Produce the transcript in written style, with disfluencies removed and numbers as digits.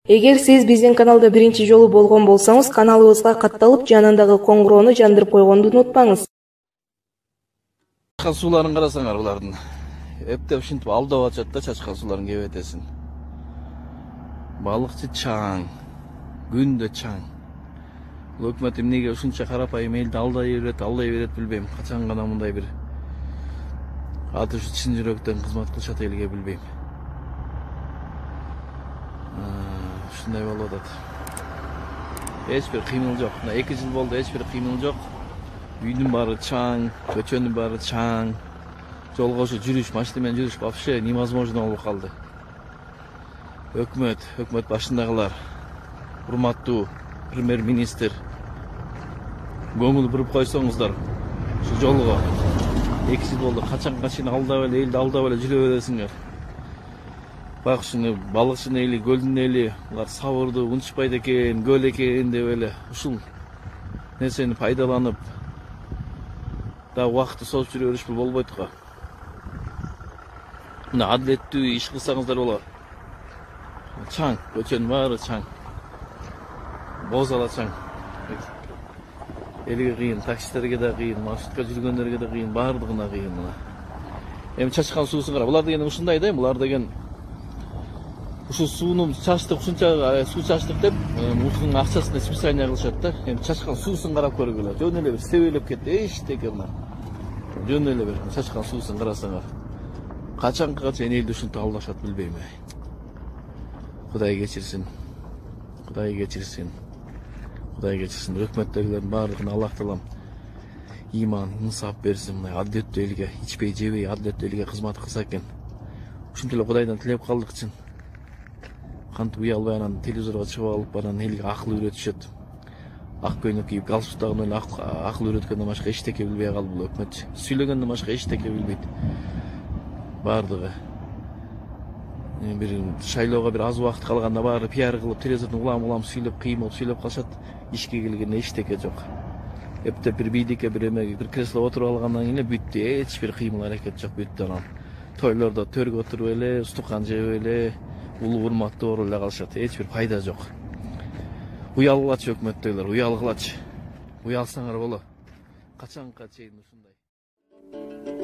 Эгер сиз биздин каналда биринчи жолу болгон болсоңуз, каналыбызга катталып, жанындагы коңгуроону жандырып койгонду унутпаңыз. Чачкан сууларын карасаңар, булардын эптеп ушинтип алдап атышат да, чачкан суулардын кебетесин. Балыкчы чаң, күндө чаң. Бул өкмөт эмнеге ушунча карапайым элди алдай берет билбейм. Качан гана мындай бир аты ушу чын жүрөктөн кызмат кылышат элге билбейм. Ушундай болуп атат. Эч бир кыймыл жок. Мына 2 жыл болду, эч бир кыймыл жок. Үйдүн баары чаң, көчөнүн баары чаң. Жолго ушу жүрүш, машина менен жүрүш вообще невозможно болуп калды. Өкмөт башындагылар, урматтуу премьер-министр, көңүл буруп койсоңуздар ушу жолго. 2 жыл болду, качанга чейин алдап эле, элди алдап эле жүрө бересиңер. Бак ушуну балыкчынын эли, көлдүн эли, булар сабырды унутпайт экен, көл экен деп эле ушул нерсени пайдаланып да убакытты созуп жүрө беришпи болбойт го. Мына адилеттүү иш кылсаңыздар болот. Чаң, көчөнүн баары чаң. Бозала чаң. Элге кыйын, таксисттерге да кыйын, маршрутка жүргөндөргө да кыйын, баардыгына кыйын мына. Эми чачкан суусун кара. Булар деген ушундай да, булар деген ушу сууну чачтык, ушунча суу чачтык деп, ушунун акчасын специально кылышат да. Эми чачкан суусун карап көргүлө. Жөн эле бир себелеп кетти, эчтеке мына. Жөн эле бир чачкан суусун карасаңар. Качанга чейин элди ушинтип алдашат билбейм. Кудай кечирсин. Кудай кечирсин. Кудай кечирсин. Өкмөттөгүлөрдүн баардыгына Аллах таалам иман, инсап берсин. Мына адилеттүү элге, ичпей жебей адилеттүү элге кызмат кылса экен. Ушинтип эле Кудайдан тилеп калдыкчы. Кантип уялбай анан телевизорго чыгып алып, анан элге акыл үйрөтүшөт. Ак көйнөк кийип, галстук тагып эле акыл үйрөткөндөн башка эчтеке билбей калды бул өкмөт. Сүйлөгөндөн башка эчтеке билбейт. Бардыгы. Бир шайлоого бир аз убакыт калганда баары пиар кылып, телевизордон улам сүйлөп, кыймылып сүйлөп калышат. Ишке келгенде эчтеке жок. Эптеп бир бийдикке бир эмеге бир кресло отуруп алгандан кийин эле бүттү. Эч бир кыймыл аракет жок, бүттү анан. Тойлордо төргө отуруп эле, устукан жеп эле, улуу урматтуу болуп эле калышат. Эч бир пайда жок. Уялгылачы өкмөттөгүлөр, уялгылачы. Уялсаңар болот. Качанга чейин ушундай.